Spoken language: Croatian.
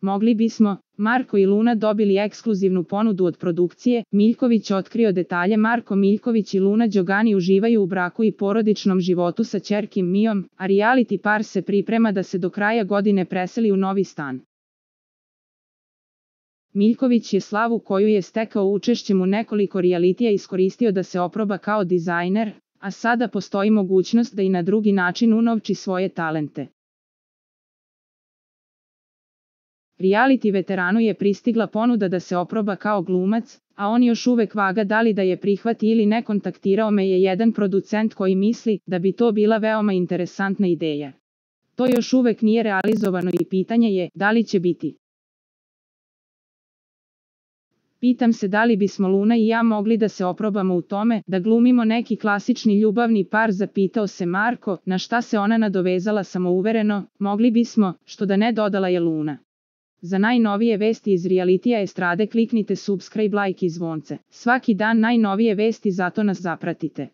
Mogli bismo, Marko i Luna dobili ekskluzivnu ponudu od produkcije, Miljković otkrio detalje. Marko Miljković i Luna Đogani uživaju u braku i porodičnom životu sa ćerkim Mijom, a reality par se priprema da se do kraja godine preseli u novi stan. Miljković je slavu koju je stekao učešćem u nekoliko realitija iskoristio da se oproba kao dizajner, a sada postoji mogućnost da i na drugi način unovči svoje talente. Reality veteranu je pristigla ponuda da se oproba kao glumac, a on još uvek vaga da li da je prihvati ili ne. Kontaktirao me je jedan producent koji misli da bi to bila veoma interesantna ideja. To još uvek nije realizovano i pitanje je da li će biti. Pitam se da li bismo Luna i ja mogli da se oprobamo u tome, da glumimo neki klasični ljubavni par, zapitao se Marko, na šta se ona nadovezala samouvereno, mogli bismo, što da ne, dodala je Luna. Za najnovije vesti iz realitija estrade kliknite subscribe, like i zvonce. Svaki dan najnovije vesti, zato nas zapratite.